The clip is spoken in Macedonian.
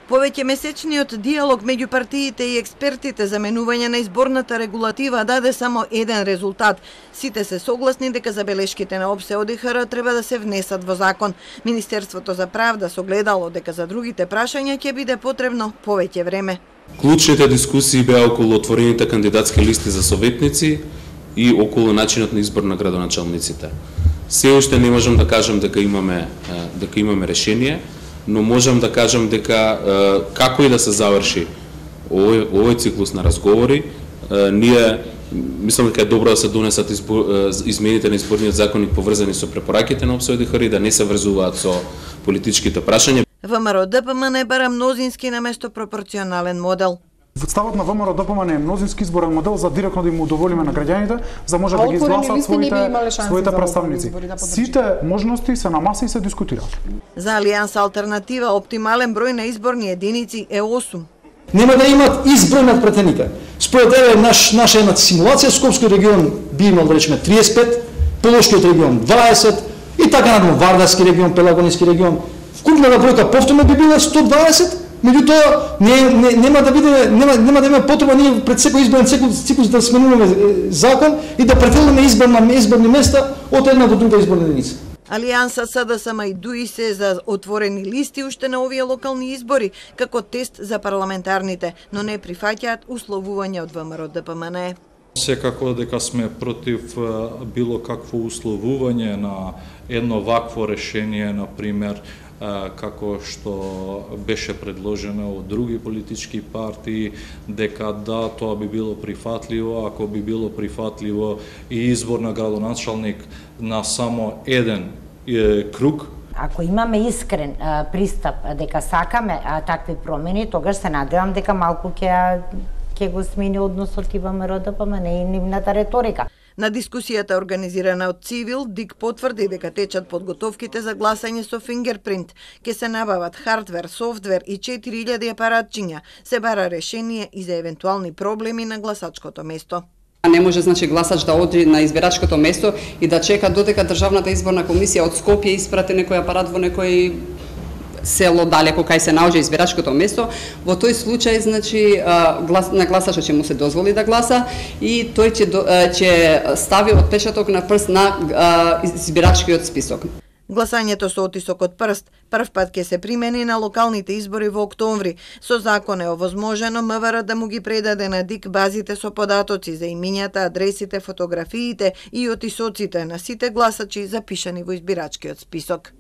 Повеќе месечниот диалог меѓу партиите и експертите за менување на изборната регулатива даде само еден резултат. Сите се согласни дека забелешките на ОПСЕ ОДИХР треба да се внесат во закон. Министерството за правда согледало дека за другите прашања ќе биде потребно повеќе време. Клучните дискусии беа околу отворените кандидатски листи за советници и околу начинот на избор на градоначалниците. Се уште не можам да кажам дека имаме решение, но можам да кажам дека како и да се заврши овој циклус на разговори, ние мислам дека е добро да се донесат измените на изборниот законник поврзани со препораките на ОПСЕ ОДИХР и да не се врзуваат со политичките прашања. ВМРО ДПМН бара мнозински наместо пропорционален модел. Ставот на ВМРО ДПМН е мнозински изборен модел за директно да им удоволиме на граѓаните, за може да ги изгласат своите представници. Сите можности се на маса и се дискутираат. За Алијанса Алтернатива оптимален број на изборни единици е 8. Нема да имат изброј над претените. Според наша една симулација, Скопски регион би имал, да речеме, 35, Полошкиот регион 20 и така надолу, Вардарски регион, Пелагонски регион. Вкупната бројка повторно би била 120, меѓутоа нема да има потреба ние пред секој изборен циклус да сменуваме закон и да претелиме изборни места од една до друга изборна единица. Алијанса СДСМ и ДУИ се за отворени листи уште на овие локални избори како тест за парламентарните, но не прифаќаат условување од ВМРО ДПМН. Секако дека сме против било какво условување на едно вакво решение, например, како што беше предложено од други политички партии, дека да, тоа би било прифатливо, ако би било прифатливо и избор на градоначалник на само еден круг. Ако имаме искрен пристап дека сакаме такви промени, тогаш се надевам дека малку ќе го смени односот и ВМРО ДПМН и нивната реторика. На дискусијата организирана од Цивил, ДИК потврди дека течат подготовките за гласање со фингерпринт. Ке се набават хардвер, софтвер и 4000 апаратчиња. Се бара решение и за евентуални проблеми на гласачкото место. Не може гласач да оди на избирачкото место и да чека додека Државната изборна комисија од Скопје испрати некој апарат во некој село далеко кај се наоѓа избирачкото место. Во тој случај, на гласачот ќе му се дозволи да гласа и тој ќе стави отпечаток на прст на избирачкиот список. Гласањето со отисок од прст прв пат ќе се примени на локалните избори во октомври. Со закон е овозможено МВР да му ги предаде на ДИК базите со податоци за имињата, адресите, фотографиите и отисоците на сите гласачи запишани во избирачкиот список.